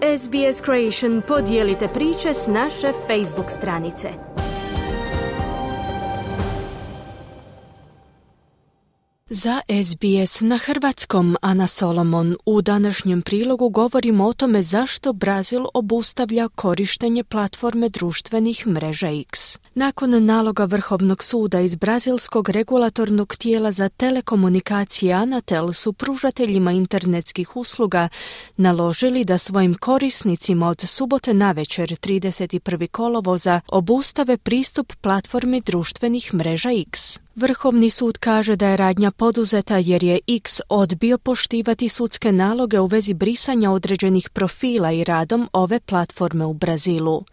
SBS Creation podijelite priče s naše Facebook stranice. Za SBS na hrvatskom, Ana Solomon, u današnjem prilogu govorimo o tome zašto Brazil obustavlja korištenje platforme društvenih mreža X. Nakon naloga Vrhovnog suda iz brazilskog regulatornog tijela za telekomunikacije Anatel su pružateljima internetskih usluga naložili da svojim korisnicima od subote navečer 31. kolovoza obustave pristup platformi društvenih mreža X. Vrhovni sud kaže da je radnja poduzeta jer je X odbio poštivati sudske naloge u vezi brisanja određenih profila i radom ove platforme u Brazilu.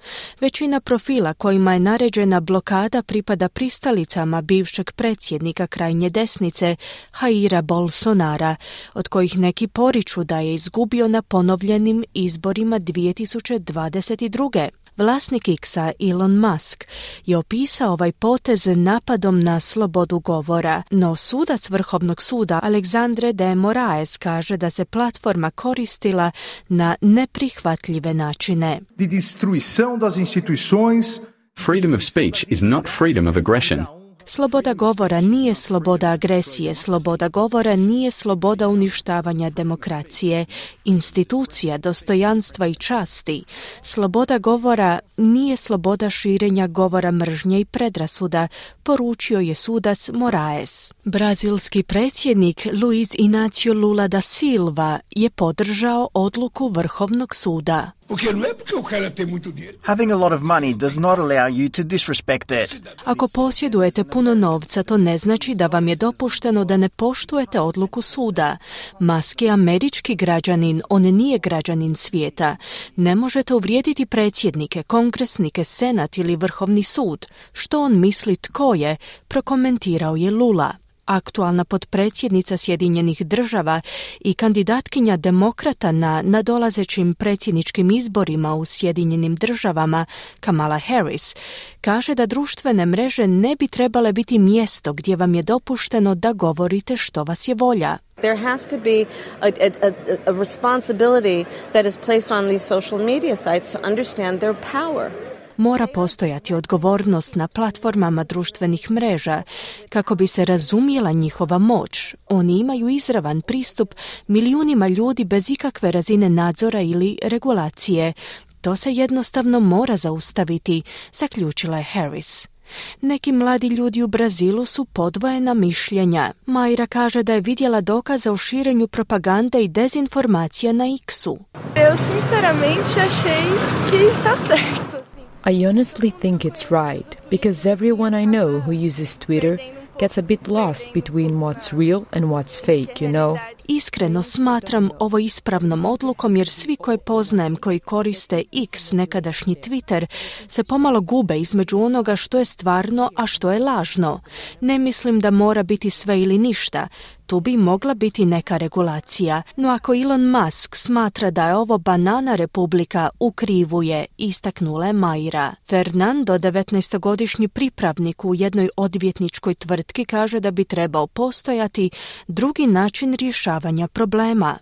Većina profila kojima je naređena blokada pripada pristalicama bivšeg predsjednika krajnje desnice Jaira Bolsonara, od kojih neki poriču da je izgubio na ponovljenim izborima 2022. Vlasnik X-a, Elon Musk, je opisao ovaj potez napadom na slobodu govora, no sudac Vrhovnog suda Alexandre de Moraes kaže da se platforma koristila na neprihvatljive načine. De destruição das instituições. Freedom of speech is not freedom of aggression. Sloboda govora nije sloboda agresije, sloboda govora nije sloboda uništavanja demokracije, institucija, dostojanstva i časti. Sloboda govora nije sloboda širenja govora mržnje i predrasuda, poručio je sudac Moraes. Brazilski predsjednik Luiz Inácio Lula da Silva je podržao odluku Vrhovnog suda. Having a lot of money does not allow you to disrespect it. Ako posjedujete puno novca, to ne znači da vam je dopušteno da ne poštujete odluku suda. Musk je američki građanin, on nije građanin svijeta. Ne možete uvrijediti predsjednike, kongresnike, senat ili Vrhovni sud. Što on misli tko je, prokomentirao je Lula. Aktualna potpredsjednica Sjedinjenih država i kandidatkinja demokrata na nadolazećim predsjedničkim izborima u Sjedinjenim državama, Kamala Harris, kaže da društvene mreže ne bi trebale biti mjesto gdje vam je dopušteno da govorite što vas je volja. There has to be a responsibility that is placed on these social media sites to understand their power. Mora postojati odgovornost na platformama društvenih mreža kako bi se razumjela njihova moć. Oni imaju izravan pristup milijunima ljudi bez ikakve razine nadzora ili regulacije. To se jednostavno mora zaustaviti, zaključila je Harris. Neki mladi ljudi u Brazilu su podvojena mišljenja. Mayra kaže da je vidjela dokaze o širenju propagande i dezinformacija na X-u. Eu sinceramente achei que tá certo. I honestly think it's right, because everyone I know who uses Twitter gets a bit lost between what's real and what's fake, you know? Iskreno smatram ovo ispravnom odlukom jer svi koje poznajem koji koriste X, nekadašnji Twitter, se pomalo gube između onoga što je stvarno, a što je lažno. Ne mislim da mora biti sve ili ništa. Tu bi mogla biti neka regulacija, no ako Elon Musk smatra da je ovo banana republika, u krivu je, istaknula je Mayra. Fernando, 19-godišnji pripravnik u jednoj odvjetničkoj tvrtki, kaže da bi trebao postojati drugi način rješavanja problema.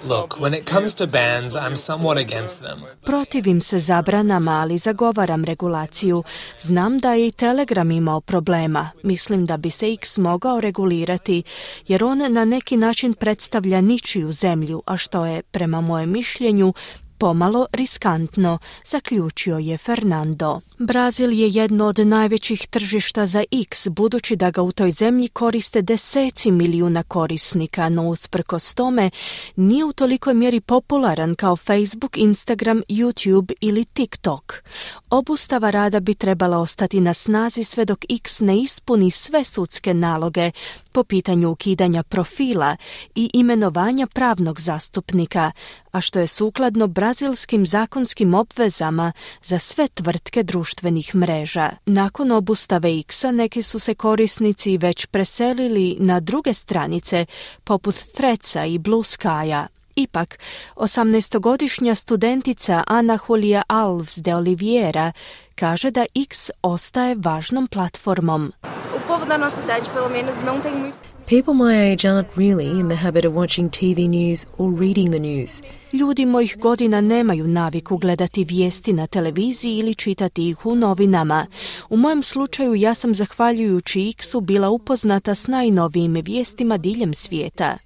Look, when it comes to bans, I'm somewhat against them. Protivim se zabranama, ali zagovaram regulaciju. Znam da je i Telegram imao problema. Mislim da bi se X mogao regulirati, jer on na neki način predstavlja ničiju zemlju, a što je, prema mojem mišljenju, pomalo riskantno, zaključio je Fernando. Brazil je jedno od najvećih tržišta za X, budući da ga u toj zemlji koriste deseci milijuna korisnika, no usprkos tome nije u tolikoj mjeri popularan kao Facebook, Instagram, YouTube ili TikTok. Obustava rada bi trebala ostati na snazi sve dok X ne ispuni sve sudske naloge po pitanju ukidanja profila i imenovanja pravnog zastupnika, a što je sukladno brazilskim zakonskim obvezama za sve tvrtke društvenih mreža. Nakon obustave X-a neki su se korisnici već preselili na druge stranice poput Threadsa i Blue Skya. Ipak, 18-godišnja studentica Ana Julia Alves de Oliveira kaže da X ostaje važnom platformom. O povo da nossa idade, pelo menos, não tem muito. People my age aren't really in the habit of watching TV news or reading the news. Ljudi mojih godina nemaju naviku gledati vijesti na televiziji ili čitati ih u novinama. U mojem slučaju ja sam zahvaljujući X-u bila upoznata s najnovijim vijestima diljem svijeta.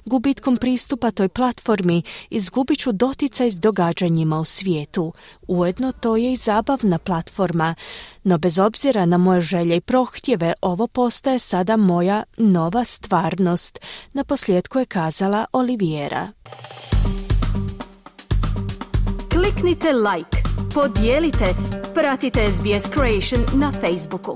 Gubitkom pristupa toj platformi izgubit ću doticaj s događanjima u svijetu. Ujedno to je i zabavna platforma. No bez obzira na moje želje i prohtjeve, ovo postaje sada moja nova stvarnost. Naposljetku je kazala Oliviera. Kliknite like, podijelite, pratite SBS Creation na Facebooku.